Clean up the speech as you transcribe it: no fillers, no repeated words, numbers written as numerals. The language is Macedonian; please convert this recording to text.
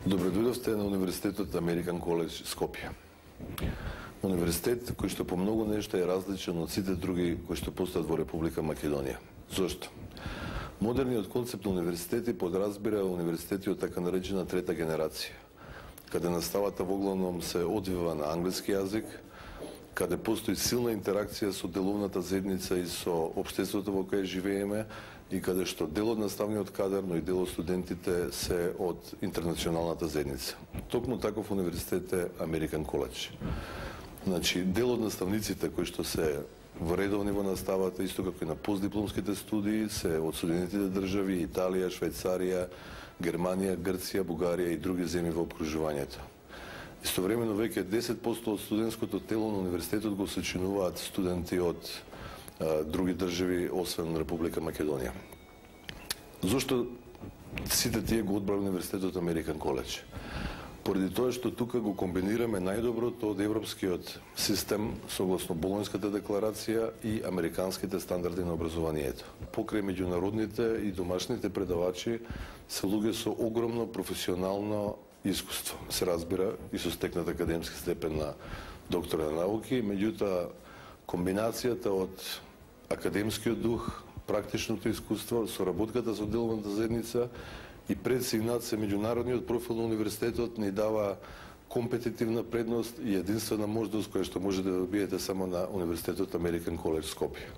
Добре дојдовте на Универзитетот Американ Коледж Скопје. Универзитет кој што по многу нешта е различен од сите други кои што постојат во Република Македонија. Зошто? Модерниот концепт на универзитети подразбира универзитети од така наречена трета генерација, каде наставата во главном се одвива на англиски јазик, каде постои силна интеракција со деловната заедница и со општеството во кое живееме и каде што дел од наставниот кадар, но и дел од студентите се од интернационалната заедница. Токму таков универзитет е Американ Коледж. Значи, дел од наставниците кои што се вредовни во наставата, исто како и на постдипломските студии, се од Соединетите држави, Италија, Швајцарија, Германија, Грција, Бугарија и други земји во окружувањето. Истовремено веќе 10% од студентското тело на универзитетот го сочинуваат студенти од други држави освен Република Македонија. Зошто сите тие го одбраа универзитетот Американ Коледж? Поради тоа што тука го комбинираме најдоброто од европскиот систем согласно Болонската декларација и американските стандарди на образованието. Покрај меѓународните и домашните предавачи се луѓе со огромно професионално искуство, се разбира и со стекнат академски степен на доктор на науки, меѓутоа комбинацијата од академскиот дух, практичното искуство, соработката со деловната заедница и пред сигнат се меѓународниот профил на универзитетот ни дава компетитивна предност и единствена можност која што можете да добиете само на Универзитетот Американ Коледж Скопје.